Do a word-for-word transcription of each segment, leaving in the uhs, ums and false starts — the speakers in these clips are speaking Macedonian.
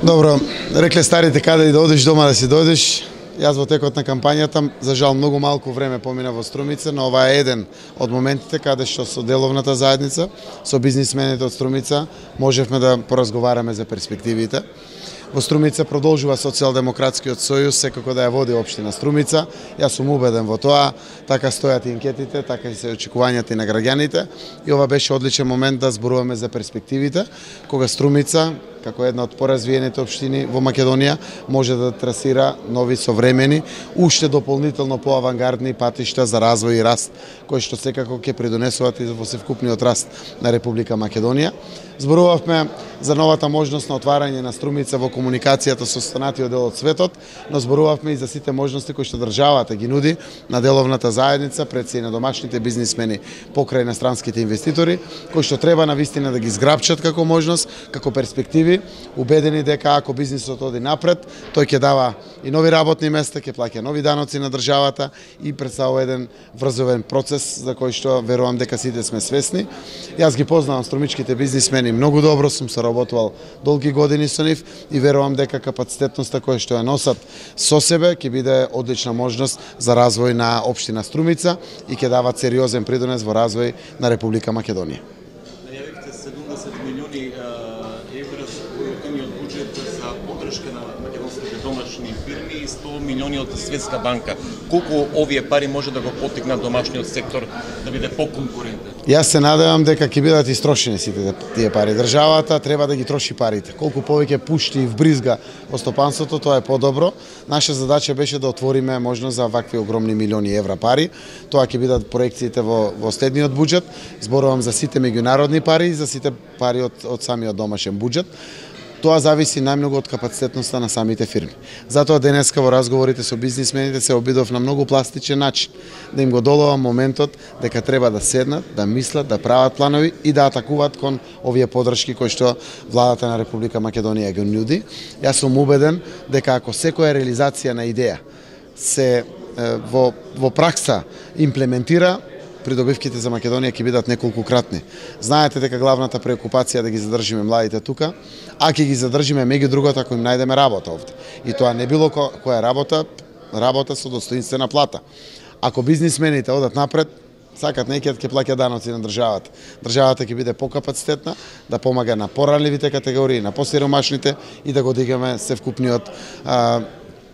Добро, рекле старите каде и да одиш дома да си дојдеш. Јас во текот на кампањата, за жал многу малку време помина во Струмица, но ова е еден од моментите каде што со деловната заедница, со бизнисмените од Струмица, можевме да поразговараме за перспективите. Во Струмица продолжува Социјалдемократскиот сојуз секако да ја води општина Струмица. Јас сум убеден во тоа, така стојат и анкетите, така и се очекувањата и на граѓаните. И ова беше одличен момент да зборуваме за перспективите, кога Струмица, како една од поразвиените општини во Македонија, може да трасира нови современи, уште дополнително поавангардни патишта за развој и раст, кои што секако ќе придонесуваат и во севкупниот раст на Република Македонија. Зборувавме за новата можност на отварање на Струмица во комуникацијата со останатиот дел од светот, но зборувавме и за сите можности кои што државата ги нуди на деловната заедница, пред се и на домашните бизнисмени покрај иностранските инвеститори, кои што треба навистина да ги зграпчат како можност, како перспективи, убедени дека ако бизнисот оди напред, тој ќе дава и нови работни места, ќе плаќа нови даноци на државата и представува еден врзовен процес за кој што верувам дека сите сме свесни. Јас ги познавам струмичките бизнисмени многу добро, сум соработувал долги години со нив и верувам дека капацитетноста која што ја носат со себе ќе биде одлична можност за развој на општина Струмица и ќе дават сериозен придонес во развој на Република Македонија. Најавивте седумдесет милиони евра од буџет за поддршка на македонските домашни фирми и сто милиони од Светска банка. Колку овие пари може да го поттикнат домашниот сектор да биде поконкурентен? Јас се надевам дека ќе бидат истрошени сите тие пари. Државата треба да ги троши парите. Колку повеќе пушти и вбризга во стопанството, тоа е подобро. Наша задача беше да отвориме можност за вакви огромни милиони евра пари. Тоа ќе бидат проекциите во, во следниот буџет. Зборувам за сите меѓународни пари и за сите пари од, од самиот домашен буџет. Тоа зависи најмногу од капацитетноста на самите фирми. Затоа денеска во разговорите со бизнисмените се обидов на многу пластичен начин да им го доловам моментот дека треба да седнат, да мислат, да прават планови и да атакуваат кон овие поддршки кои што владата на Република Македонија ги нуди. Јас сум убеден дека ако секоја реализација на идеја се во во пракса имплементира, придобивките за Македонија ќе бидат неколкукратни. Знаете дека главната преокупација е да ги задржиме младите тука, а ќе ги задржиме меѓу другото ако им најдеме работа овде. И тоа не било ко, која работа, работа со достоинствена плата. Ако бизнисмените одат напред, сакат некијат ќе плаќа даноци на државата. Државата ќе биде покапацитетна да помага на поранливите категории, на посиромашните и да го дигаме севкупниот а,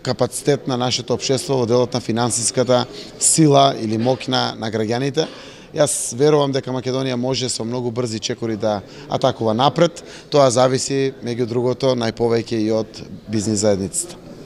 капацитет на нашето општество во делот на финансиската сила или моќ на, на граѓаните. Јас верувам дека Македонија може со многу брзи чекори да атакува напред. Тоа зависи, меѓу другото, најповеќе и од бизнис заедницата.